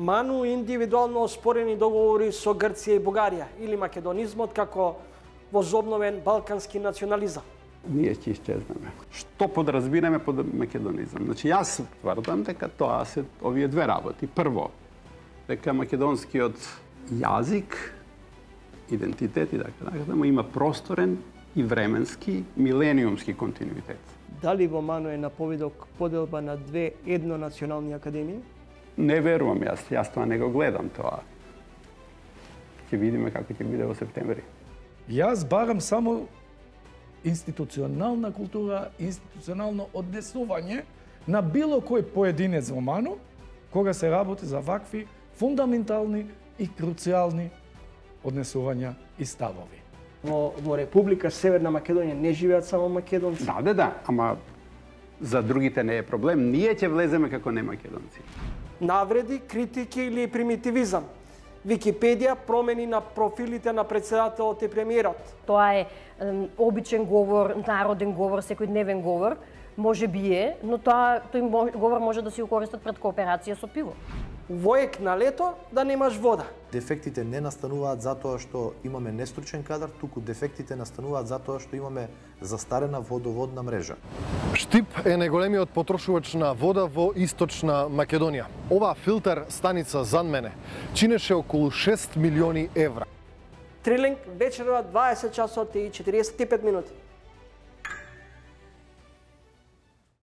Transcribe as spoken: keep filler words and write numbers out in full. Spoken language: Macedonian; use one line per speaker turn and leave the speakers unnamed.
Ману индивидуално оспорени договори со Грција и Бугарија или македонизмот како возобновен балкански национализам.
Ние ќе исчезнеме. Што подразбираме под македонизам? Значи, јас тврдам дека тоа се овие две работи. Прво, дека македонскиот јазик, идентитет и така натаму има просторен и временски, милениумски континуитет.
Дали во Ману е на повидок поделба на две еднонационални академии?
Не верувам јас, јас тоа не го гледам тоа. Ќе видиме како ќе биде во септември.
Јас барам само институционална култура, институционално однесување на било кој поединец во Ману, кога се работи за вакви фундаментални и круцијални однесувања и ставови.
Во, во Република Северна Македонија не живеат само македонци.
Да, да, да, ама за другите не е проблем. Ние ќе влеземе како не македонци.
Навреди, критики или примитивизам. Википедија промени на профилите на председателот и премиерот.
Тоа е обичен говор, народен говор, секојдневен говор, може би е, но тоа тој говор може да си го користат пред кооперација со пиво.
Воек на лето да немаш вода.
Дефектите не настануваат затоа што имаме нестручен кадар, туку дефектите настануваат затоа што имаме застарена водоводна мрежа.
Штип е најголемиот потрошувач на вода во Источна Македонија. Ова филтер станица зад мене чинеше околу шест милиони евра.
Трилинг вечерва дваесет часот и четириесет и пет минути.